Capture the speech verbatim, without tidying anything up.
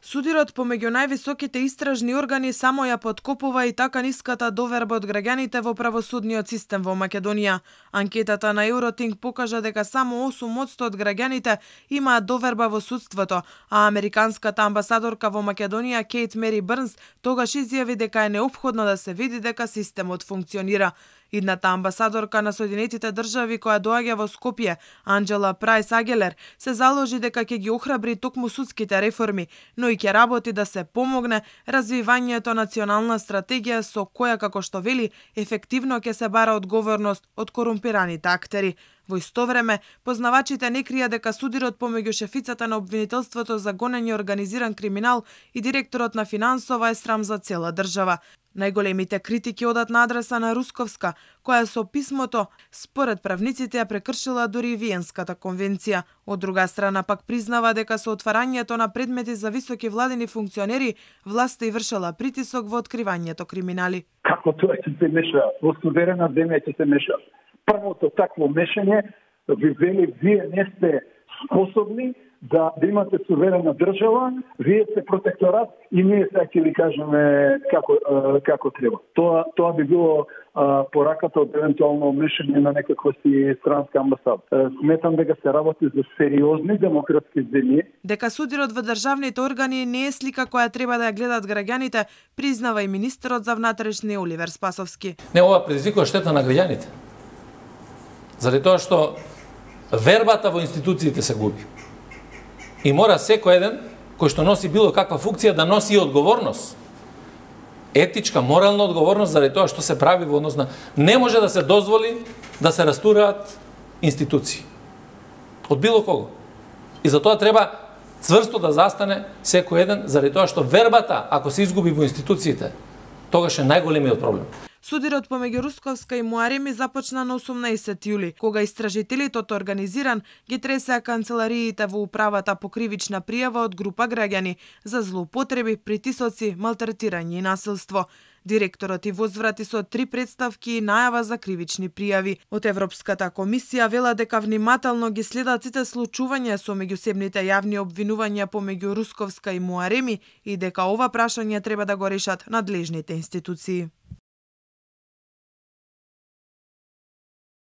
Судирот помеѓу највисоките истражни органи само ја подкопува и така ниската доверба од граѓаните во правосудниот систем во Македонија. Анкетата на Евротинг покажа дека само осум одсто од граѓаните имаат доверба во судството, а американската амбасадорка во Македонија Кейт Мери Брнс тогаш изјави дека е неопходно да се види дека системот функционира. Идната амбасадорка на Соединетите држави која доаѓа во Скопје, Анџела Прајс Агелер, се заложи дека ќе ги охрабри токму судските реформи, но и ќе работи да се помогне развивањето национална стратегија со која, како што вели, ефективно ќе се бара одговорност од корумпираните актери. Во исто време, познавачите не крија дека судирот помеѓу шефицата на обвинителството за гонење организиран криминал и директорот на финансова е срам за цела држава. Најголемите критики одат на адреса на Русковска, која со писмото, според правниците, ја прекршила дури и Виенската конвенција. Од друга страна пак признава дека со отварањето на предмети за високи владени функционери, власта и вршела притисок во откривањето криминали. Како тоа ќе се меша? Во суверена земја ќе се меша. Првото такво мешање ви вели, вие не сте способни да, да имате суверена држава, вие сте протекторат и ние сега ќе ви кажеме како, како треба. Тоа, тоа би било а, пораката од евентуално мешање на некаква си странска амбасада. Сметам дека се работи за сериозни демократски земји. Дека судирот во државните органи не е слика која треба да ја гледат граѓаните, признава и министерот за внатрешни Оливер Спасовски. Не, ова предизвикува штета на граѓаните. Заради тоа што вербата во институциите се губи. И мора секој еден кој што носи било каква функција да носи и одговорност. Етичка, морална одговорност заради тоа што се прави во однос на... Не може да се дозволи да се растураат институции. Од било кого. И за тоа треба цврсто да застане секој еден заради тоа што вербата, ако се изгуби во институциите, тогаш е најголемиот проблем. Судирот помеѓу Русковска и Муареми започна на осумнаесети јули, кога истражителите од организиран ги тресеа канцелариите во управата по кривична пријава од група граѓани за злоупотреби, притисоци, малтретирање и насилство. Директорот и возврати со три представки и најава за кривични пријави. Од Европската комисија вела дека внимателно ги следат сите случувања со меѓусебните јавни обвинувања помеѓу Русковска и Муареми и дека ова прашање треба да го решат надлежните институции.